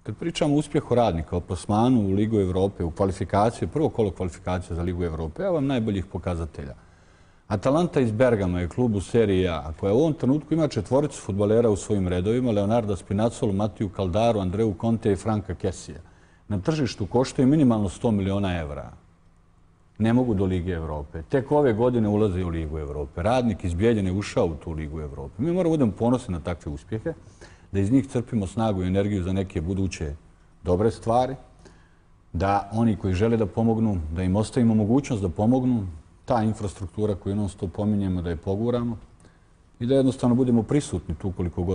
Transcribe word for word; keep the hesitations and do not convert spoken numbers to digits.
Kad pričamo o uspjehu Radnika, o plasmanu u Ligu Evrope, u kvalifikaciju, prvo kolo kvalifikacije za Ligu Evrope, evo vam najboljih pokazatelja. Atalanta iz Bergama je klub u seriji A, koja u ovom trenutku ima četvoricu fudbalera u svojim redovima, Leonarda Spinazzolu, Matiju Caldaru, Andreu Conte i Franka Kessija. Na tržištu koštaju minimalno sto miliona evra. Ne mogu do Lige Evrope. Tek ove godine ulaze u Ligu Evrope. Radnik iz Bijeljine je ušao u tu Ligu Evrope. Mi moramo budemo ponosni na takve uspjehe, da iz njih crpimo snagu i energiju za neke buduće dobre stvari, da oni koji žele da pomognu, da im ostavimo mogućnost da pomognu, ta infrastruktura koju non stop pominjemo, da je poguramo i da jednostavno budemo prisutni tu koliko god